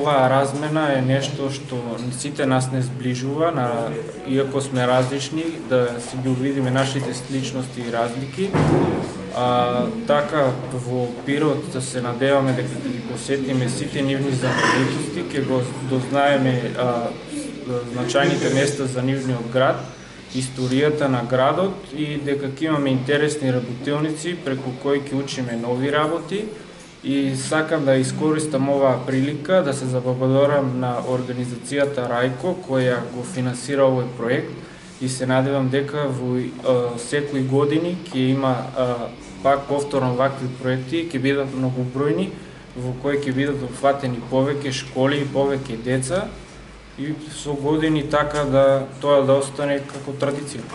оваа размена е нешто што сите нас не сближува, иако сме различни, да си ги увидиме нашите сличности и разлики. Така во Пирот да се надеваме дека ќе ги посетиме сите нивни знаменитости, ќе го дознаеме значајните места за нивниот град, историјата на градот и дека ќе имаме интересни работилници преку кои ќе учиме нови работи. И сакам да искористам оваа прилика да се заблагодарам на организацијата Рајко која го финансира овој проект и се надевам дека во секои години ќе има пак повторно вакви проекти, ќе бидат многобројни, во кои ќе бидат опфатени повеќе школи и повеќе деца и со години така да тоа да остане како традиција.